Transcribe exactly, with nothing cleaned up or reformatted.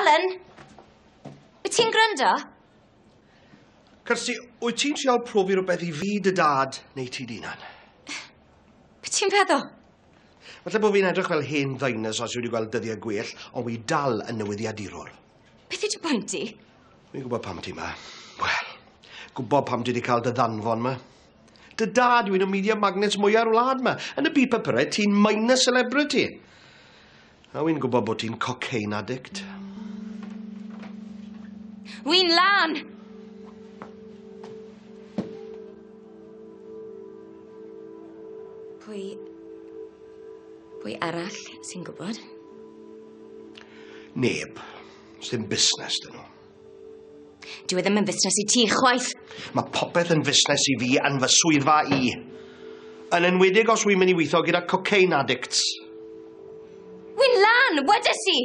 Alan! Wyt ti'n gwrando? Kirsty, wyt ti'n trial profi rhywbeth i fi, dy dad, neu ti dy hunan? Be ti'n feddwl? Falle bod fi'n edrych fel hen ddinosaur sydd wedi gweld dyddiau gwell, ond wi dal yn newyddiadurwr. Beth yw dy bwynt di? Wi'n gwybod pam ti 'ma. Wel, gwybod pam ti wedi cael dy ddanfon 'ma. Dy dad yw un o media magnates mwya'r wlad 'ma. Yn y byd papurau, ti'n minor celebrity. A wi'n gwybod bod ti'n cocaine addict. Wi'n lan! Pwy... Pwy arall sy'n gwybod? Neb. Sdim busnes 'dyn nhw. Dyw e ddim yn fusnes i ti chwaith. Mae popeth yn fusnes i fi yn fy swyddfa i. Yn enwedig os wi'n mynd i weithio gyda cocaine addicts. Wi'n lan, wedes i!